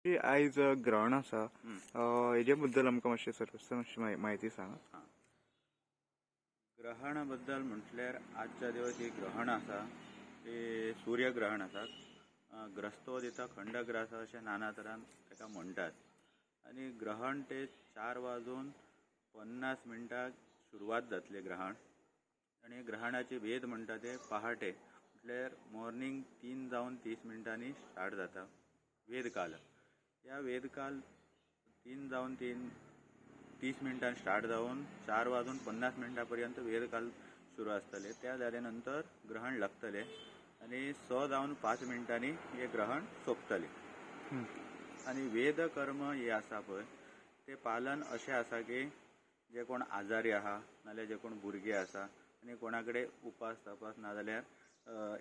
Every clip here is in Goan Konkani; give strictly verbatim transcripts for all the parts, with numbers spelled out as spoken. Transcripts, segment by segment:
आयज ग्रहण आसा, हेजे बद्दल आमकां मातशें सविस्तर मातशी म्हायती सांगा. ग्रहणा बद्दल म्हटल्यार आजच्या दिवस ही ग्रहण आसा ते सूर्यग्रहण आसा. ग्रस्तोदिता खंडग्रास अशें नाना तरान ताका म्हणटात. आनी ग्रहण ते चार वाजून पन्नास मिनटां सुरवात जातली ग्रहण. आनी ग्रहणाची वेद म्हणटा ते पहाटे म्हटल्यार मॉर्निंग तीन जावन तीस मिनटांनी स्टार्ट जाता वेदकाल. ह्या वेदकाल तीन जावन तीन तीस मिनटां स्टार्ट जावन चार वाजून पन्नास मिनटां पर्यंत वेदकाल सुरू आसतले. त्या जाल्या नंतर ग्रहण लागतले आनी स जावन पांच मिनटांनी हे ग्रहण सोंपतले. आनी वेदकर्म हे आसा पळय ते पालन अशें आसा की जे कोण आजारी आहा नाल्यार जे कोण भुरगे आसा आनी कोणा कडेन उपास तपास ना जाल्यार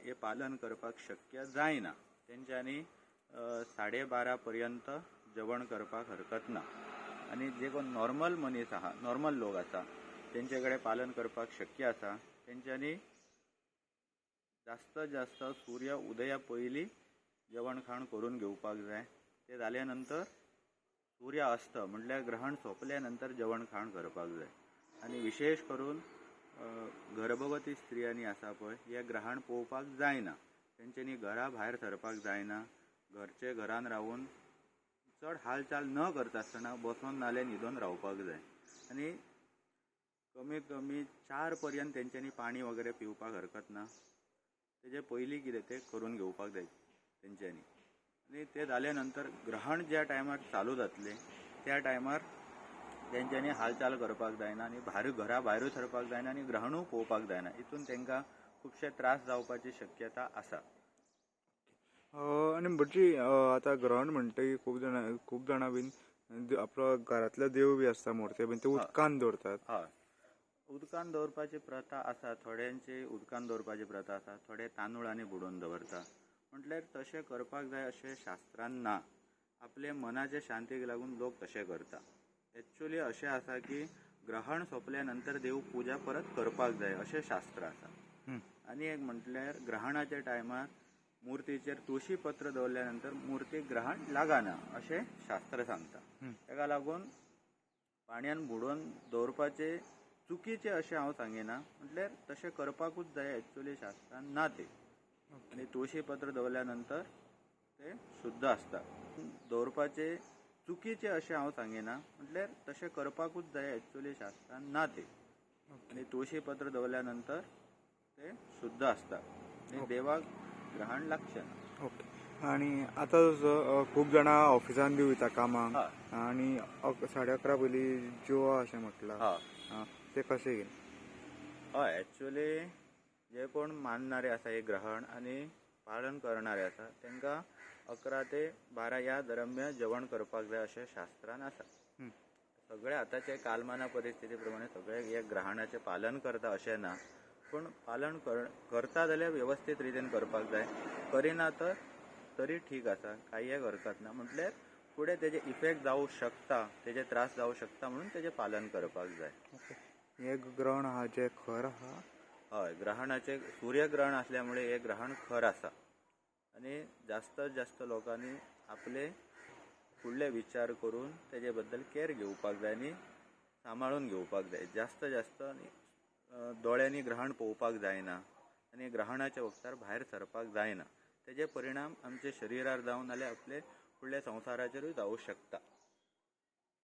हे पालन करपाक शक्य जायना तेंच्यांनी साडे बारा पर्यंत जेवण करपाक हरकत ना. आनी जे कोण नॉर्मल मनीस आहा, नॉर्मल लोक आसा तेंचे कडेन पालन करपाक शक्य आसा तेंच्यांनी जास्त जास्त सूर्य उदया पयलीं जेवण खाण करून घेवपाक जाय. ते जाल्या नंतर सूर्य अस्त म्हटल्यार ग्रहण सोंपल्या नंतर जेवण खाण करपाक जाय. आनी विशेश करून गर्भवती स्त्रियांनी आसा पळय हे ग्रहण पळोवपाक जायना, तेंच्यांनी घरा भायर सरपाक जायना, घरचे घरान रावून चड हालचाल न करता आसतना बसोन नाल्यार न्हिदोन रावपाक जाय. आनी कमीत कमी चार पर्यंत तेंच्यांनी पाणी वगैरे पिवपाक हरकत ना, तेजे पयलीं कितें तें करून घेवपाक जाय तेंच्यांनी. आनी ते जाल्या नंतर ग्रहण ज्या टायमार चालू जातलें त्या टायमार तेंच्यांनी हालचाल करपाक जायना आनी भायर घरा भायरूय सरपाक जायना आनी ग्रहणूय पळोवपाक जायना. हितून तांकां खुबशे त्रास जावपाची शक्यता आसा. आनी भटजी आतां ग्रहण म्हणटकीर खूब जाणां खूब जाणां बीन आपलो घरांतलो देव बी आसता मूर्ती बीन ते उदकान दवरतात. हय, उदकान दवरपाची प्रथा आसा, थोड्यांची उदकान दवरपाची प्रथा आसा, थोडे तांदूळांनी बुडोवन दवरता. म्हटल्यार तशें करपाक जाय अशें शास्त्रान ना, आपले मनाचे शांतीक लागून लोक तशें करता. एक्चुअली अशें आसा की ग्रहण सोंपल्या नंतर देव पुजा परत करपाक जाय अशें शास्त्र आसा. आनी एक म्हटल्यार ग्रहणाच्या टायमार मूर्तीचेर तुळशी पत्र दवरल्या नंतर मूर्तीक ग्रहण लागना अशें शास्त्र सांगता. ताका लागून पाणयान बुडोवन दवरपाचे चुकीचें अशें हांव सांगिना, म्हटल्यार तशें करपाकूच जाय एक्चुअली शास्त्रान ना ते. आनी तुळशी पत्र दवरल्या नंतर ते शुद्ध आसता. दवरपाचे चुकीचें अशें हांव सांगिना, म्हटल्यार तशें करपाकूच जाय एक्चुअली शास्त्रान ना ते. आनी तुळशी पत्र दवरल्या नंतर ते शुद्ध आसता आनी देवाक ग्रहण लागचें ना. ओके. आनी आतां जसो खूब जाणां ऑफिसान बी वयता कामाक आनी साडे अकरा पयलीं जेवा अशें म्हटलां, ते कशें कितें? हय, एक्चुअली जे कोण मानणारे आसा हे ग्रहण आनी पालन करणारे आसा तांकां अकरा ते बारा ह्या दरम्यान जेवण करपाक जाय अशें शास्त्रान आसा. सगळे आतांचे कालमाना परिस्थिती प्रमाणे सगळे हे ग्रहणाचें पालन करता अशें ना, पूण पालन कर करता जाल्यार वेवस्थीत रितीन करपाक जाय, करिना तर तरी ठीक आसा, कांय एक हरकत ना. म्हटल्यार फुडें तेजे इफेक्ट जावं शकता, तेजे त्रास जावं शकता म्हणून तेजें पालन करपाक जाय. हे ग्रहण आहा जे खर आहा? हय, ग्रहणाचे सूर्यग्रहण आसल्यामुळे हे ग्रहण खर आसा आनी जास्त जास्त लोकांनी आपले फुडले विचार करून तेजे बद्दल केअर घेवपाक जाय आनी सांबाळून घेवपाक जाय. जास्त जास्त दोळ्यांनी ग्रहण पळोवपाक जायना आनी ग्रहणाच्या वखदार भायर सरपाक जायना. तेजे परिणाम आमच्या शरिरार जावन नाल्यार आपले फुडल्या संवसाराचेरूय जावं शकता.